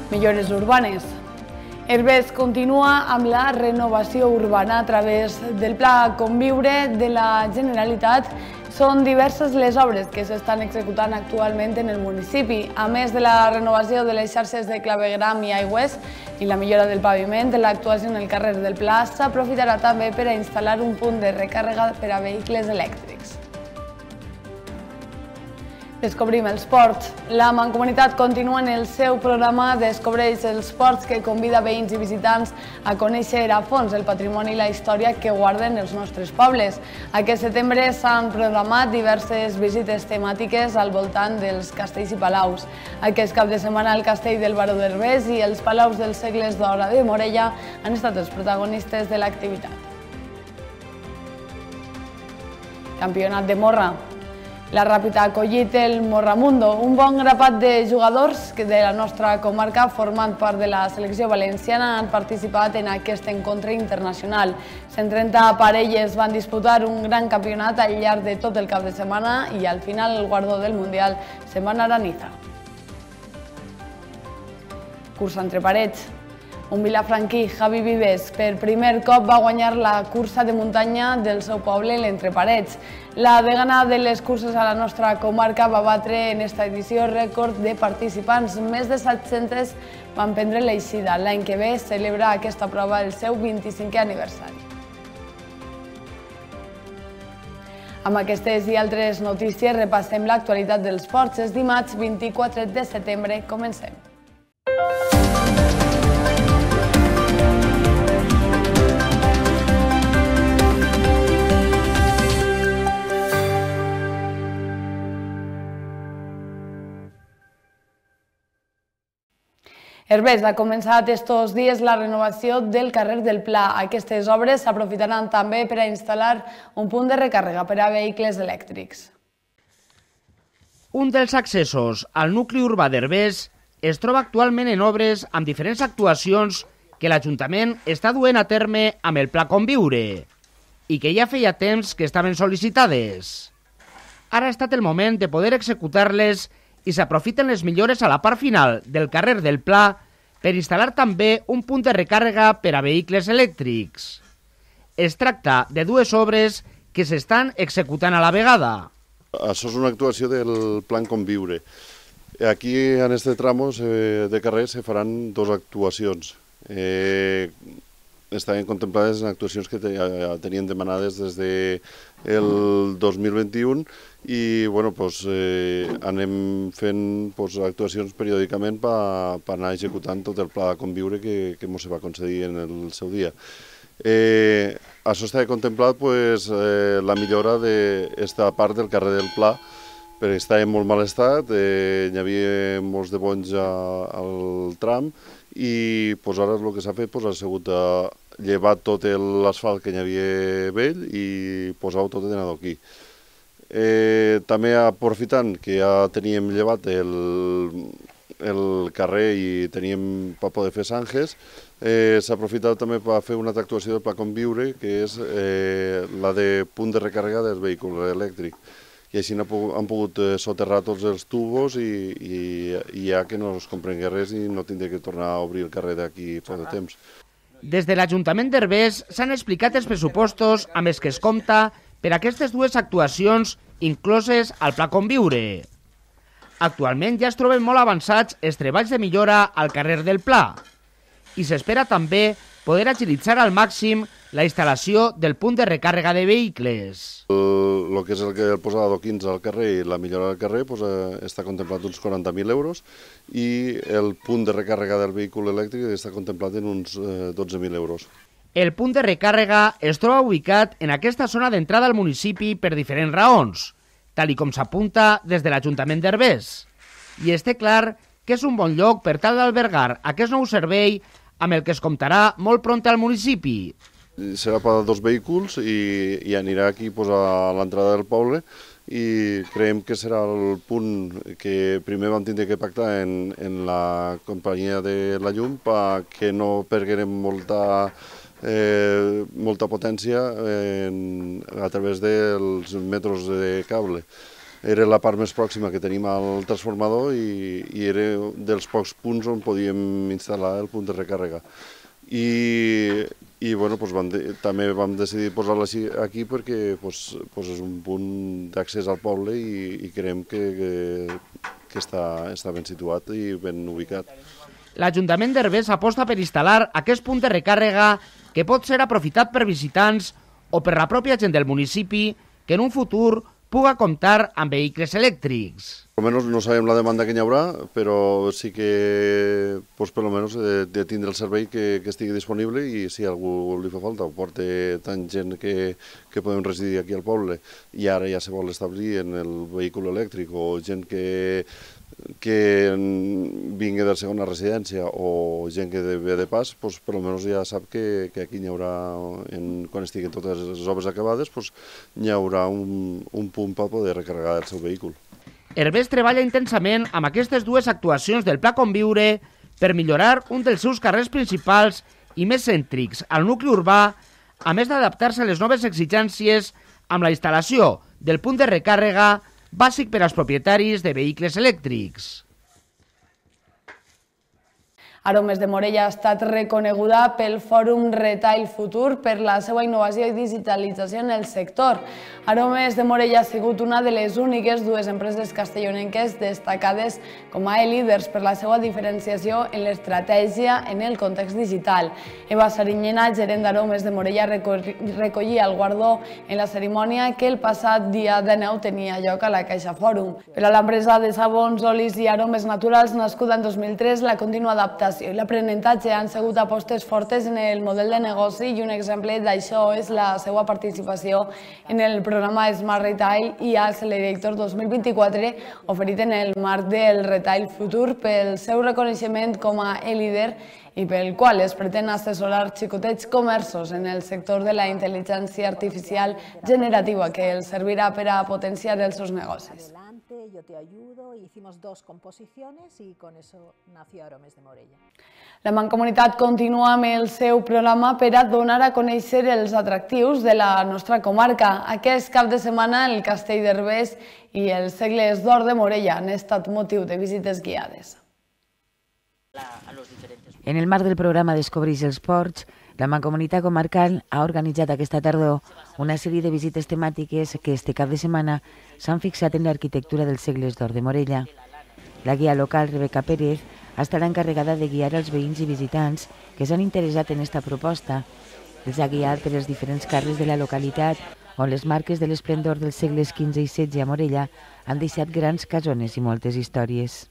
Millores urbanes. Herbers continua amb la renovació urbana a través del Pla Conviure de la Generalitat. Són diverses les obres que s'estan executant actualment en el municipi. A més de la renovació de les xarxes de clavegueram i aigües i la millora del paviment, l'actuació en el carrer del Pla s'aprofitarà també per a instal·lar un punt de recàrrega per a vehicles elèctrics. Descobrim els ports. La Mancomunitat continua en el seu programa Descobreix els ports, que convida veïns i visitants a conèixer a fons el patrimoni i la història que guarden els nostres pobles. Aquest setembre s'han programat diverses visites temàtiques al voltant dels castells i palaus. Aquest cap de setmana el castell del Baró d'Herbers i els palaus dels segles d'or de Morella han estat els protagonistes de l'activitat. Campionat de morra. La Ràpid ha acollit el Morramundo, un bon grapat de jugadors de la nostra comarca formant part de la selecció valenciana han participat en aquest encontre internacional. 130 parelles van disputar un gran campionat al llarg de tot el cap de setmana i al final el guardó del Mundial se'n va anar a Niza. Cursa entre parets. Un vilafranquí, Javi Vives, per primer cop va guanyar la cursa de muntanya del seu poble, l'Entre Parets. La degana de les curses a la nostra comarca va batre en esta edició rècord de participants. Més de 700 van prendre l'eixida. L'any que ve celebra aquesta prova el seu 25è aniversari. Amb aquestes i altres notícies repassem l'actualitat dels ports. És dimarts 24 de setembre. Comencem. Herbers ha començat estos dies la renovació del carrer del Pla. Aquestes obres s'aprofitaran també per a instal·lar un punt de recàrrega per a vehicles elèctrics. Un dels accessos al nucli urbà d'Herbers es troba actualment en obres amb diferents actuacions que l'Ajuntament està duent a terme amb el Pla Conviure i que ja feia temps que estaven sol·licitades. Ara ha estat el moment de poder executar-les i s'aprofiten les millores a la part final del carrer del Pla per instal·lar també un punt de recàrrega per a vehicles elèctrics. Es tracta de dues obres que s'estan executant a la vegada. Això és una actuació del Plan Conviure. Aquí, en aquest tram de carrer, se faran dues actuacions. Estaven contemplades en actuacions que tenien demanades des del 2021 i anem fent actuacions periòdicament per anar executant tot el pla de conviure que ens va concedir en el seu dia. Això estava contemplat la millora d'esta part del carrer del Pla, perquè estava en molt mal estat, hi havia molts de bonys al tram i ara el que s'ha fet ha sigut llevar tot l'asfalt que hi havia vell i posar-ho tot en adoquí. També aprofitant que ja teníem llevat el carrer i teníem per poder fer zanges, s'ha aprofitat també per fer una altra actuació del Pla Conviure, que és la de punt de recàrrega del vehicle elèctric. I així han pogut soterrar tots els tubos i ja que no es comprengués res i no tindré que tornar a obrir el carrer d'aquí poc de temps. Des de l'Ajuntament d'Herbers s'han explicat els pressupostos amb els que es compta per aquestes dues actuacions incloses al Pla Conviure. Actualment ja es troben molt avançats els treballs de millora al carrer del Pla i s'espera també poder agilitzar al màxim la instal·lació del punt de recàrrega de vehicles. El que és el posar adoquins al carrer i la millora del carrer està contemplat uns 40.000 euros i el punt de recàrrega del vehicle elèctric està contemplat en uns 12.000 euros. El punt de recàrrega es troba ubicat en aquesta zona d'entrada al municipi per diferents raons, tal com s'apunta des de l'Ajuntament d'Herbers. I té clar que és un bon lloc per tal d'albergar aquest nou servei amb el que es comptarà molt pront al municipi. Serà per a 2 vehicles i anirà aquí a l'entrada del poble i creiem que serà el punt que primer vam tindre que pactar en la companyia de la llum perquè no perguem molta potència a través dels metros de cable. era la part més pròxima que tenim al transformador i era dels pocs punts on podíem instal·lar el punt de recàrrega. I bueno, també vam decidir posar-la aquí perquè és un punt d'accés al poble i creiem que està ben situat i ben ubicat. L'Ajuntament d'Herbers aposta per instal·lar aquest punt de recàrrega que pot ser aprofitat per visitants o per la pròpia gent del municipi que en un futur puga comptar amb vehicles elèctrics. Almenys no sabem la demanda que hi haurà, però sí que per almenys de tindre el servei que estigui disponible i si a algú li fa falta o porta tant gent que podem residir aquí al poble i ara ja se vol establir en el vehicle elèctric o gent que vingui de segona residència o gent que ve de pas, per almenys ja sap que aquí hi haurà, quan estiguin totes les obres acabades, hi haurà un punt per poder recarregar el seu vehicle. Herbers treballa intensament amb aquestes dues actuacions del Pla Conviure per millorar un dels seus carrers principals i més cèntrics al nucli urbà, a més d'adaptar-se a les noves exigències amb la instal·lació del punt de recàrrega bàsic per als propietaris de vehicles elèctrics. Aromes de Morella ha estat reconeguda pel Fòrum Retail Futur per la seva innovació i digitalització en el sector. Aromes de Morella ha sigut una de les úniques dues empreses castellonenques destacades com a líders per la seva diferenciació en l'estratègia en el context digital. Eva Sariñena, gerent d'Aromes de Morella, recollia el guardó en la cerimònia que el passat dia 19 tenia lloc a la Caixa Fòrum. Per a l'empresa de sabons, olis i aromes naturals nascuda en 2003, la contínua adaptació i l'aprenentatge han sigut apostes fortes en el model de negoci i un exemple d'això és la seva participació en el programa Smart Retail i Accelerator 2024 oferit en el marc del Retail Futur pel seu reconeixement com a líder i pel qual es pretén assessorar xicotets comerços en el sector de la intel·ligència artificial generativa que els servirà per a potenciar els seus negocis. Yo te ayudo, hicimos 2 composiciones y con eso nació Aromes de Morella. La Mancomunitat continua amb el seu programa per a donar a conèixer els atractius de la nostra comarca. Aquest cap de setmana el Castell d'Herbers i els Segles d'Or de Morella han estat motiu de visites guiades. En el marc del programa Descobreix els Ports, la Mancomunitat Comarcal ha organitzat aquesta tardor una sèrie de visites temàtiques que este cap de setmana s'han fixat en l'arquitectura dels Segles d'Or de Morella. La guia local, Rebeca Pérez, ha estat encarregada de guiar els veïns i visitants que s'han interessat en esta proposta. Els ha guiat per els diferents carrers de la localitat on les marques de l'esplendor dels segles XV i XVI a Morella han deixat grans casones i moltes històries.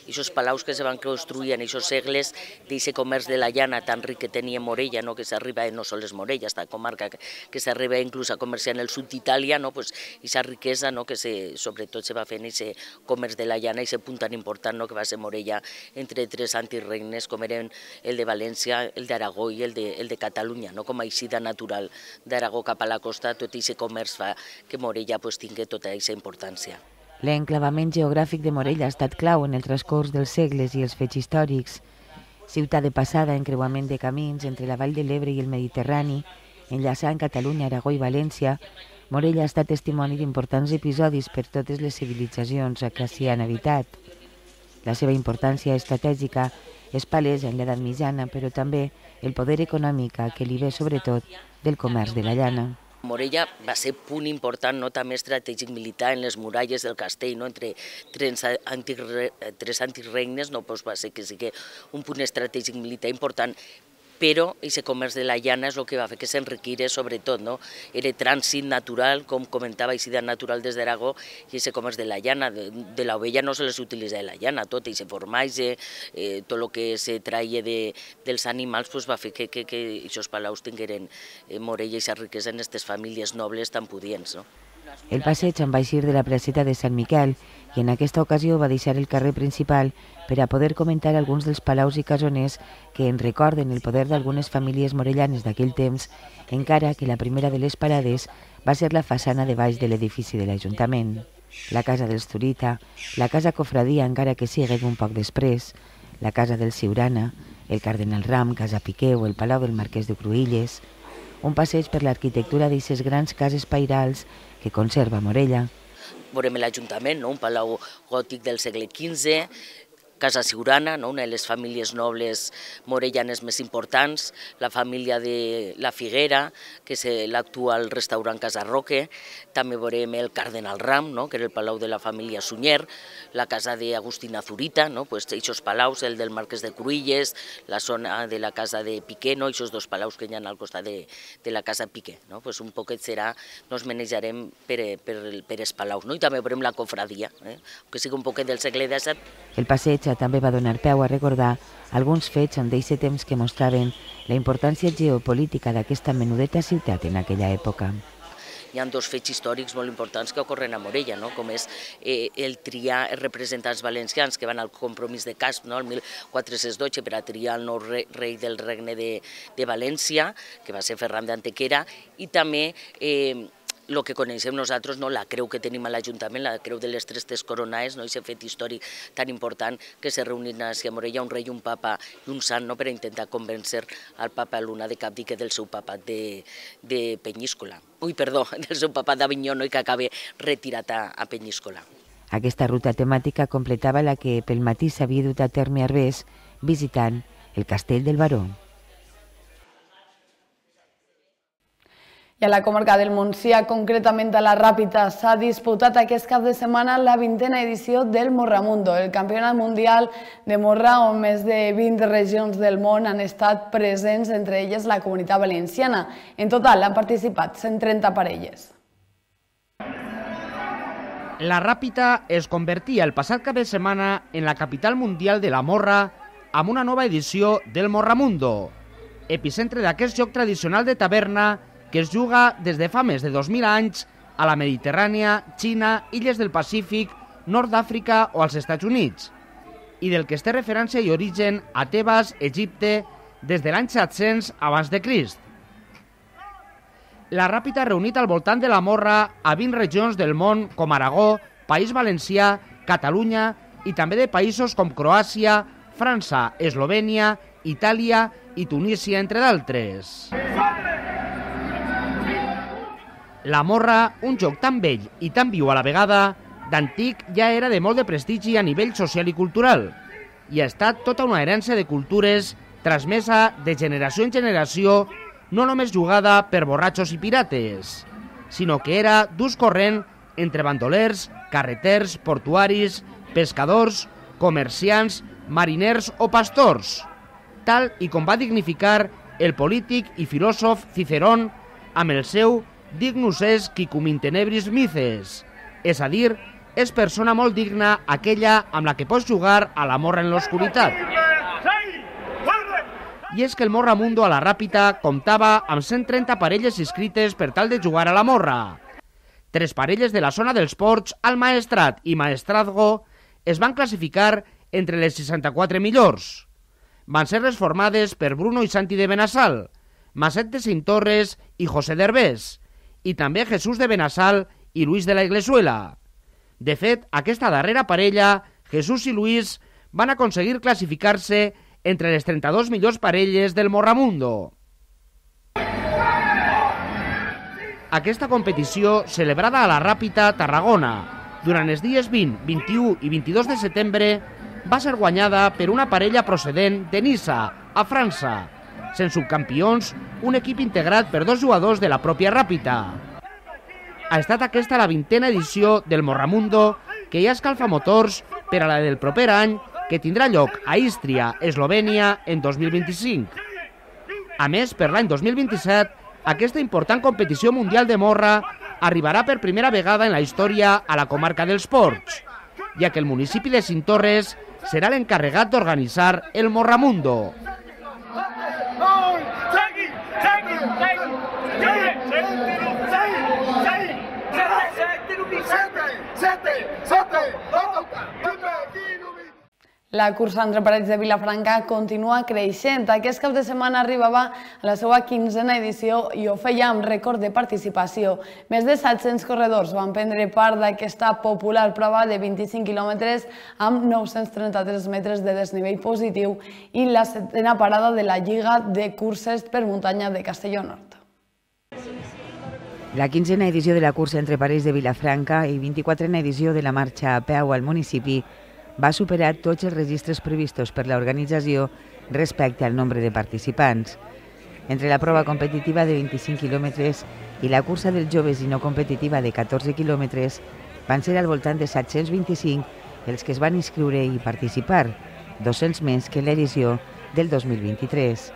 Esos palaus que se van construir en esos segles d'aquest comerç de la llana tan ric que tenia Morella, que s'arriba no sols Morella, esta comarca que s'arriba inclús a comerciar en el sud d'Itàlia, aquesta riquesa que sobretot se va fer en aquest comerç de la llana, aquest punt tan important que va ser Morella entre 3 antics regnes com eren el de València, el d'Aragó i el de Catalunya, com a eixida natural d'Aragó cap a la costa, tot aquest comerç fa que Morella tingui tota aquesta importància. L'enclavament geogràfic de Morella ha estat clau en el transcurs dels segles i els fets històrics. Ciutat de passada, encreuament de camins entre la Vall de l'Ebre i el Mediterrani, enllaçant Catalunya, Aragó i València, Morella ha estat testimoni d'importants episodis per totes les civilitzacions que s'hi han habitat. La seva importància estratègica és palesa en l'edat mitjana, però també el poder econòmic que li ve sobretot del comerç de la llana. Morella va ser punt important, també estratègic militar en les muralles del castell, entre 3 antics regnes, va ser que sigui un punt estratègic militar important, però aquest comerç de la llana és el que va fer que s'enriquira sobretot. Era trànsit natural, com comentava, eixida natural des d'Aragó, i aquest comerç de la llana, de l'ovella no se les utilitza la llana, tot aquest formatge, tot el que se traia dels animals va fer que aquests palaus tingueren Morella i aquesta riquesa en aquestes famílies nobles tan pudients. El passeig en va eixir de la placeta de Sant Miquel i en aquesta ocasió va deixar el carrer principal per a poder comentar alguns dels palaus i casoners que en recorden el poder d'algunes famílies morellanes d'aquell temps, encara que la primera de les parades va ser la façana de baix de l'edifici de l'Ajuntament. La casa dels Zurita, la casa Cofradia, encara que sigui un poc després, la casa del Siurana, el Cardenal Ram, Casa Piqué o el Palau del Marquès de Cruïlles, un passeig per l'arquitectura d'aquestes grans cases pairals que conserva Morella. veurem l'Ajuntament, un palau gòtic del segle XV, Casa Siurana, una de les famílies nobles morellanes més importants, la família de la Figuera, que és l'actual restaurant Casa Roque, també veurem el Cardenal Ram, que era el palau de la família Sunyer, la casa d'Agustina Zurita, aquests palaus, el del Marquès de Cruïlles, la zona de la casa de Piqué, aquests dos palaus que hi ha al costat de la casa Piqué. Un poquet serà, nos manejarem per els palaus, i també veurem la cofradia, que sigui un poquet del segle XVII. El passeig també va donar peu a recordar alguns fets en d'aquest temps que mostraven la importància geopolítica d'aquesta menudeta ciutat en aquella època. Hi ha dos fets històrics molt importants que ocorren a Morella, com és el triar els representants valencians que van al compromís de Casp, el 1412, per a triar el nou rei del regne de València, que va ser Ferran d'Antequera, i també el que coneixem nosaltres, la creu que tenim a l'Ajuntament, la creu de les Tres Coronades, aquest fet històric tan important que se reunien a Morella un rei, un papa i un sant per a intentar convèncer al papa Luna de Capdique del seu papat de Penyíscola. Del seu papat d'Avinyó i que acaba retirat a Penyíscola. Aquesta ruta temàtica completava la que pel matí s'havia dut a terme a Herbers visitant el Castell del Baró. I a la comarca del Montsià, concretament a la Ràpita, s'ha disputat aquest cap de setmana la 20a edició del Morramundo, el campionat mundial de morra on més de 20 regions del món han estat presents, entre elles la Comunitat Valenciana. En total han participat 130 parelles. La Ràpita es convertia el passat cap de setmana en la capital mundial de la morra amb una nova edició del Morramundo, epicentre d'aquest joc tradicional de taverna que es juga des de fa més de 2.000 anys a la Mediterrània, Xina, illes del Pacífic, nord d'Àfrica o als Estats Units, i del que es té referència i origen a Tebes, Egipte, des de l'any 700 abans de Crist. La Ràpita ha reunit al voltant de la morra a 20 regions del món com Aragó, País Valencià, Catalunya i també de països com Croàcia, França, Eslovènia, Itàlia i Tunísia, entre d'altres. La morra, un joc tan vell i tan viu a la vegada, d'antic ja era de molt de prestigi a nivell social i cultural i ha estat tota una herència de cultures transmesa de generació en generació, no només jugada per borratxos i pirates, sinó que era d'ús corrent entre bandolers, carreters, portuaris, pescadors, comerciants, mariners o pastors, tal i com va dignificar el polític i filòsof Cicerón amb el seu Dignus est qui cum in tenebris mices, és a dir, és persona molt digna aquella amb la que pots jugar a la morra en l'oscuritat. I és que el Morramundo a la Ràpita comptava amb 130 parelles inscrites per tal de jugar a la morra. 3 parelles de la zona dels ports, al Maestrat i Maestrazgo, es van classificar entre les 64 millors. Van ser reformades per Bruno i Santi de Benassal, Maset de Cintorres i José d'Herbés, i també Jesús de Benassal i Luis de la Iglesuela. De fet, aquesta darrera parella, Jesús i Luis, van aconseguir classificar-se entre les 32 millors parelles del Morramundo. Aquesta competició, celebrada a la Ràpita, Tarragona, durant els dies 20, 21 i 22 de setembre, va ser guanyada per una parella procedent de Niça, a França, sent subcampions un equip integrat per 2 jugadors de la pròpia Ràpita. Ha estat aquesta la 20a edició del Morramundo, que ja escalfa motors per a la del proper any, que tindrà lloc a Ístria, Eslovènia, en 2025. A més, per l'any 2027, aquesta important competició mundial de morra arribarà per primera vegada en la història a la comarca dels Ports, ja que el municipi de Cintorres serà l'encarregat d'organitzar el Morramundo. La cursa entre parets de Vilafranca continua creixent. Aquest cap de setmana arribava a la seva 15a edició i ho feia amb rècord de participació. Més de 700 corredors van prendre part d'aquesta popular prova de 25 quilòmetres amb 933 metres de desnivell positiu i la 7a parada de la Lliga de Curses per Muntanya de Castelló Nord. La 15a edició de la cursa entre parells de Vilafranca i 24a edició de la marxa a peu al municipi va superar tots els registres previstos per l'organització respecte al nombre de participants. Entre la prova competitiva de 25 quilòmetres i la cursa dels joves i no competitiva de 14 quilòmetres van ser al voltant de 725 els que es van inscriure i participar, 200 més que en l'edició del 2023.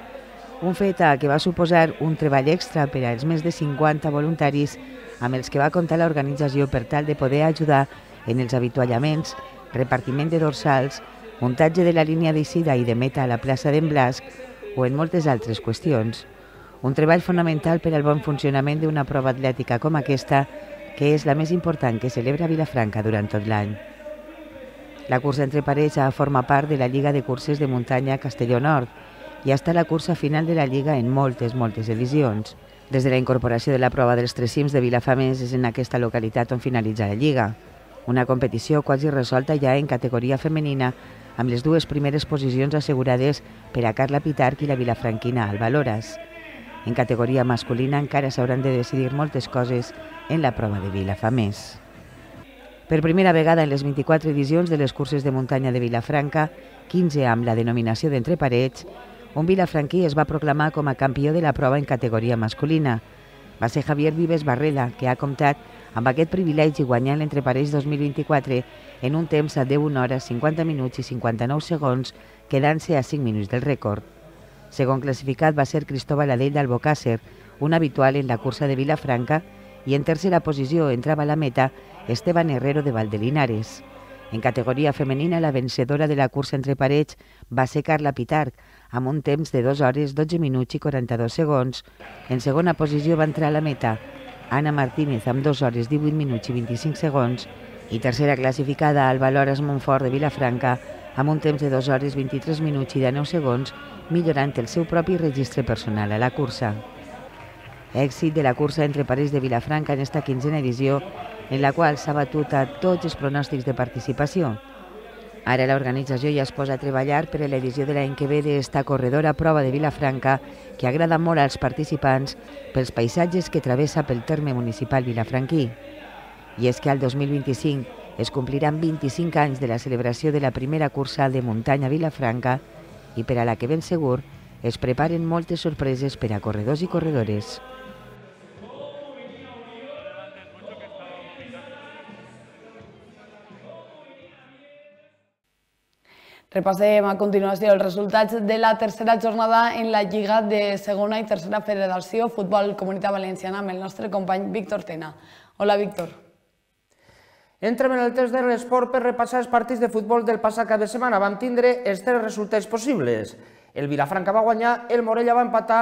Un fet que va suposar un treball extra per als més de 50 voluntaris amb els que va comptar l'organització per tal de poder ajudar en els avituallaments, repartiment de dorsals, muntatge de la línia d'eixida i de meta a la plaça d'en Blasc o en moltes altres qüestions. Un treball fonamental per al bon funcionament d'una prova atlètica com aquesta, que és la més important que celebra Vilafranca durant tot l'any. La cursa entre parells forma part de la Lliga de Curses de Muntanya Castelló Nord i ha estat la cursa final de la Lliga en moltes edicions. Des de la incorporació de la prova dels tres cims de Vilafamés és en aquesta localitat on finalitza la Lliga. Una competició quasi resolta ja en categoria femenina, amb les dues primeres posicions assegurades per a Carla Pitarch i la vilafranquina Alba Loras. En categoria masculina encara s'hauran de decidir moltes coses en la prova de Vilafamés. Per primera vegada en les 24 edicions de les curses de muntanya de Vilafranca, 15 amb la denominació d'entre parells, un vilafranquí es va proclamar com a campió de la prova en categoria masculina. Va ser Javier Vives Barrela, que ha comptat amb aquest privilegi guanyant l'entre parells 2024 en un temps de 1 hora, 50 minuts i 59 segons, quedant-se a 5 minuts del rècord. Segon classificat va ser Cristóbal Adell d'Albocàsser, un habitual en la cursa de Vilafranca, i en tercera posició entrava a la meta Esteban Herrero de Valdelinares. En categoria femenina, la vencedora de la cursa entre parells va ser Carla Pitarch, amb un temps de 2 hores, 12 minuts i 42 segons. En segona posició va entrar a la meta Ana Martínez amb 2 hores, 18 minuts i 25 segons i tercera classificada Alba Loras Montfort de Vilafranca amb un temps de 2 hores, 23 minuts i 19 segons, millorant el seu propi registre personal a la cursa. Èxit de la cursa entre parells de Vilafranca en esta 15a edició, en la qual s'ha batut a tots els pronòstics de participació. Ara l'organització ja es posa a treballar per a l'edició de l'any que ve d'esta corredora prova de Vilafranca, que agrada molt als participants pels paisatges que travessa pel terme municipal vilafranquí. I és que al 2025 es compliran 25 anys de la celebració de la primera cursa de muntanya a Vilafranca i per a la que ben segur es preparen moltes sorpreses per a corredors i corredores. Repassem a continuació els resultats de la tercera jornada en la Lliga de Segona i Tercera Federació Futbol Comunitat Valenciana amb el nostre company Víctor Tena. Hola, Víctor. Entrem en el temps de l'esport per repassar els partits de futbol del passat cap de setmana. Vam tindre els 3 resultats possibles. El Vilafranca va guanyar, el Morella va empatar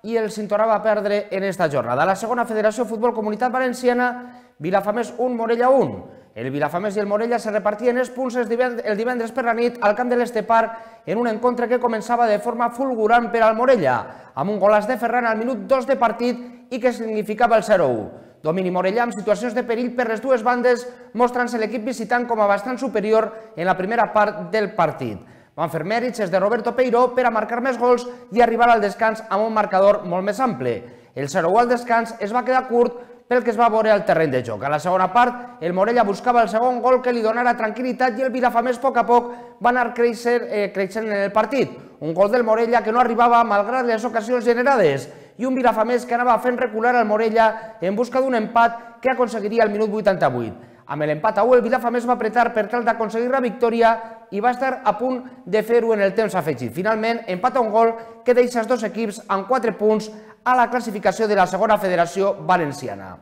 i el Cintorà va perdre en esta jornada. A la segona Federació Futbol Comunitat Valenciana, Vilafamés 1, Morella 1. El Vilafamés i el Morella se repartien els punts el divendres per la nit al camp de l'Estepar en un encontre que començava de forma fulgurant per al Morella, amb un golaç de Ferran al minut 2 de partit i que significava el 0-1. Domini morellà amb situacions de perill per les dues bandes, mostrant-se l'equip visitant com a bastant superior en la primera part del partit. Van fer mèrits els de Roberto Peiró per a marcar més gols i arribar al descans amb un marcador molt més ample. El 0-1 al descans es va quedar curt pel que es va veure al terreny de joc. A la segona part, el Morella buscava el segon gol que li donara tranquil·litat i el Vilafamés a poc a poc va anar creixent en el partit. Un gol del Morella que no arribava malgrat les ocasions generades i un Vilafamés que anava fent recular al Morella en busca d'un empat que aconseguiria al minut 88. Amb l'empat a 1, el Vilafamés va apretar per tal d'aconseguir la victòria i va estar a punt de fer-ho en el temps afegit. Finalment, empat a un gol que deixa els dos equips amb 4 punts a la classificació de la segona federació valenciana.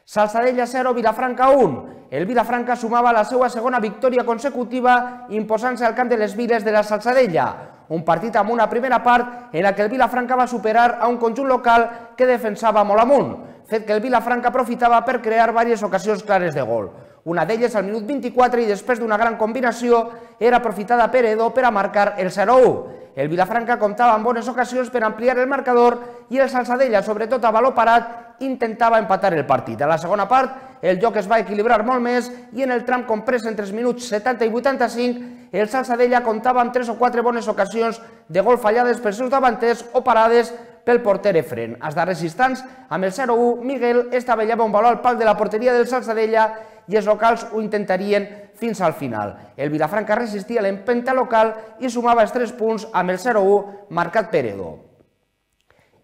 Salzadella 0, Vilafranca 1. El Vilafranca sumava la seva segona victòria consecutiva imposant-se al camp de les Viles de la Salzadella. Un partit amb una primera part en la que el Vilafranca va superar a un conjunt local que defensava molt amunt, fet que el Vilafranca aprofitava per crear diverses ocasions clares de gol. Una d'elles al minut 24 i després d'una gran combinació era aprofitada per Edo per a marcar el 0-1. El Vilafranca comptava amb bones ocasions per ampliar el marcador i el Salzadella, sobretot a baló parat, intentava empatar el partit. A la segona part, el joc es va equilibrar molt més i en el tram comprès entre els minuts 70 i 85, el Salsadella comptava amb 3 o 4 bones ocasions de gol fallades pels seus davanters o parades pel porter Efren. Als darrers instants, amb el 0-1, Miguel estavellava un valor al pal de la porteria del Salsadella i els locals ho intentarien fins al final. El Vilafranca resistia l'empenta local i sumava els 3 punts amb el 0-1 marcat per Edo.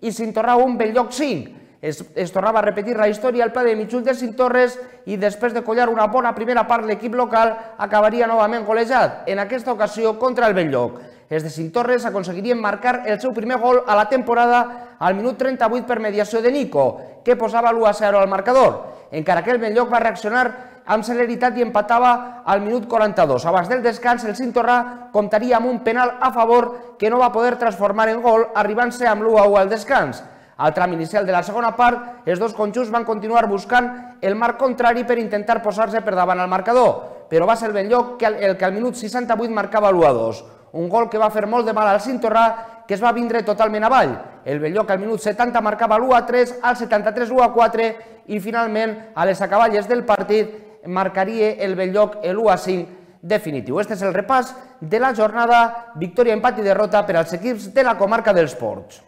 I Cintorra 1, Belllloc 5. Es tornava a repetir la història al pla de Mitjul de Cintorres i després de collar una bona primera part l'equip local acabaria novament golejat, en aquesta ocasió contra el Belllloc. Els de Cintorres aconseguirien marcar el seu primer gol a la temporada al minut 38 per mediació de Nico, que posava l'1-0 al marcador, encara que el Belllloc va reaccionar amb celeritat i empatava al minut 42. Abans del descans, el Cintorra comptaria amb un penal a favor que no va poder transformar en gol, arribant-se amb l'1-1 al descans. Al tram inicial de la segona part, els dos conjunts van continuar buscant el marc contrari per intentar posar-se per davant al marcador, però va ser el Belllloc el que al minut 68 marcava l'1-2, un gol que va fer molt de mal al Cintorra, que es va vindre totalment avall. El Belllloc al minut 70 marcava l'1-3, al 73 l'1-4 i finalment a les acaballes del partit marcaria el Belllloc l'1-5 definitiu. Este és el repàs de la jornada, victòria, empat i derrota per als equips de la comarca dels Ports.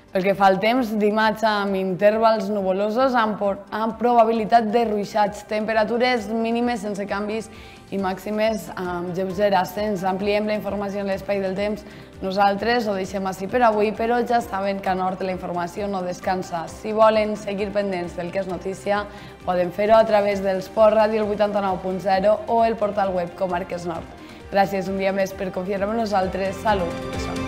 Pel que fa al temps, dimarts amb intervals nuvolosos amb probabilitat de ruixats, temperatures mínimes sense canvis i màximes amb lleuger ascens. Ampliem la informació en l'espai del temps. Nosaltres ho deixem així per avui, però ja saben que a Nord la informació no descansa. Si volen seguir pendents del que és notícia, poden fer-ho a través del Sport Ràdio el 89.0 o el portal web Comarques Nord. Gràcies un dia més per confiar en nosaltres. Salut i sort.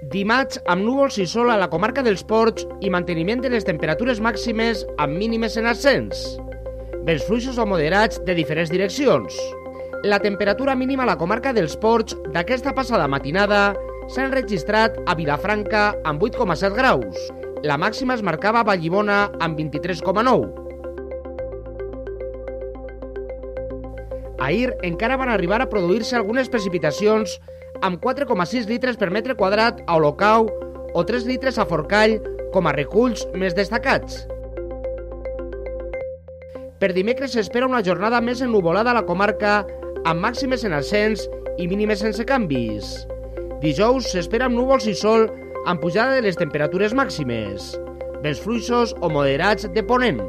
Dimarts, amb núvols i sol a la comarca dels Ports i manteniment de les temperatures màximes amb mínimes en ascens. Vents fluixos o moderats de diferents direccions. La temperatura mínima a la comarca dels Ports d'aquesta passada matinada s'ha enregistrat a Vilafranca amb 8,7 graus. La màxima es marcava a Vallibona amb 23,9. Ahir encara van arribar a produir-se algunes precipitacions amb 4,6 litres per metre quadrat a Olocau o 3 litres a Forcall com a reculls més destacats. Per dimecres s'espera una jornada més ennuvolada a la comarca amb màximes en ascens i mínimes sense canvis. Dijous s'espera amb núvols i sol amb pujada de les temperatures màximes, vents fluixos o moderats de ponent.